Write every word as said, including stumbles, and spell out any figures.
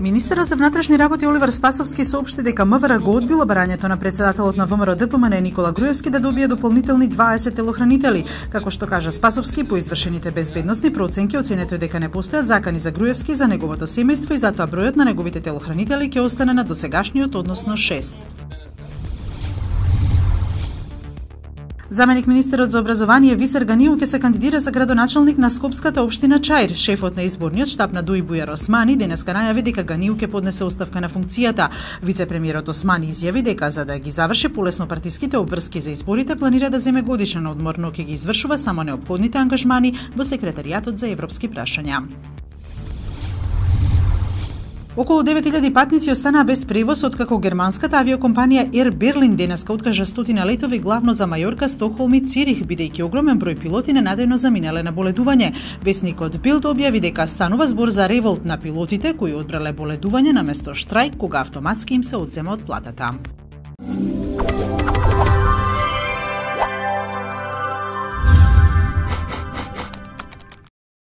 Министерот за внатрешни работи Оливер Спасовски соопшти дека МВР го одбило барањето на председателот на ВМРО Д П М Н Никола Груевски да добие дополнителни дваесет телохранители. Како што кажа Спасовски, по извршените безбедносни проценки оценето е дека не постојат закани за Груевски и за неговото семејство и затоа бројот на неговите телохранители ќе остане на досегашниот, односно шест. Заменик министерот за образование Висер Ганиу ќе се кандидира за градоначалник на Скопската општина Чаир. Шефот на изборниот штаб на Дуј Бујар Османи денеска најави дека Ганиу ќе поднесе оставка на функцијата. Вице-премиерот Османи изјави дека за да ги заврши полесно партиските обврски за изборите планира да земе годишен одмор, но ќе ги извршува само неопходните ангажмани во секретаријатот за европски прашања. Околу девет илјади патници останаа без превоз откако германската авиокомпанија Air Berlin денеска откажа стотина летови главно за Мајорка, Стокхолм и Цирих, бидејќи огромен број пилоти ненадејно заминале на боледување. Весникот Билд објави дека станува збор за револт на пилотите кои одбрале боледување наместо штрајк кога автоматски им се одзема од платата.